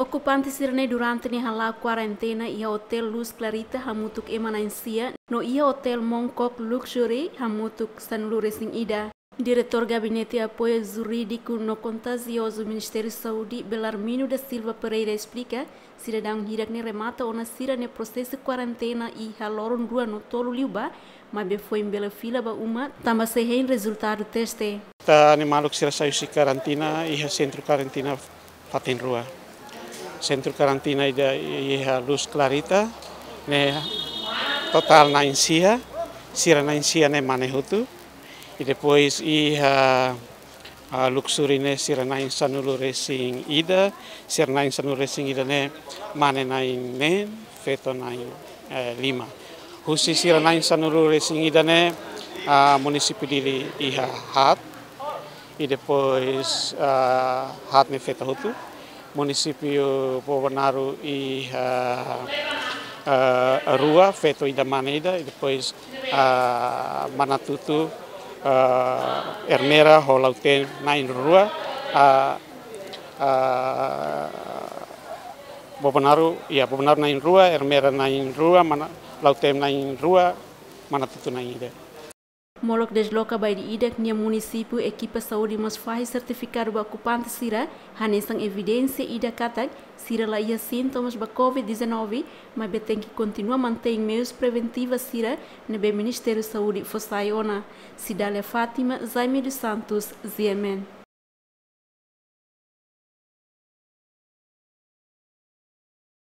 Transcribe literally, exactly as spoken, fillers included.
Okupante sira-ne'e durante ne'e hala'o kuarentena iha Hotel Luz Clarita hamutuk ema na'in-sia, no iha Hotel Mongkok Luxury hamutuk sanulu-resin-ida. Diretór Gabinete Apoiu Jurídiku no Kontejiozu Ministériu Saúde, Belarmino da Silva Pereira, esplika, sidadaun hirak-ne'e remata ona sira-nia prosesu kuarentena iha loron rua no tolu liubá, maibé foin bele fila ba uma, tanba sei hein rezultadu teste. Ita-nia maluk sira sai husi karantina iha sentru karantina fatin rua. Sentru karantina ida iha Luz Clarita ne'e totál na'in-sia, sira na'in-sia ne'e mane hotu. I depois iha, ah, Luxury ne'e sira na'in-sanulu-resin-ida, sira na'in-sanulu-resin-ida ne'e mane na'in-neen, feto na'in, eh, lima. Husi sira na'in-sanulu-resin-ida ne'e, ah, munisípiu Dili iha haat, i depois, ah, haat ne'e feto hotu. Munisípiu Bobonaro iha, ah, rua, feto ida mane ida, i depois, ah, Manatutu, ah, Ermera ho Lautém na'in-rua, ah, ah, Bobonaro, ya, Bobonaro na'in-rua, Ermera na'in-rua, Mana-, Lautém na'in-rua, Manatutu na'in-ida. Molok desloka ba ida-idak nia munisípiu, ekipa saúde mós fahe sertifikadu ba okupante sira, hanesan evidénsia ida katak sira la iha sintomas ba covid dezanove, maibé tenke kontinua mantein meius preventiva sira ne'ebé Ministériu Saúde fó sai ona. Cidália Fátima, Jaime dos Santos, G M N.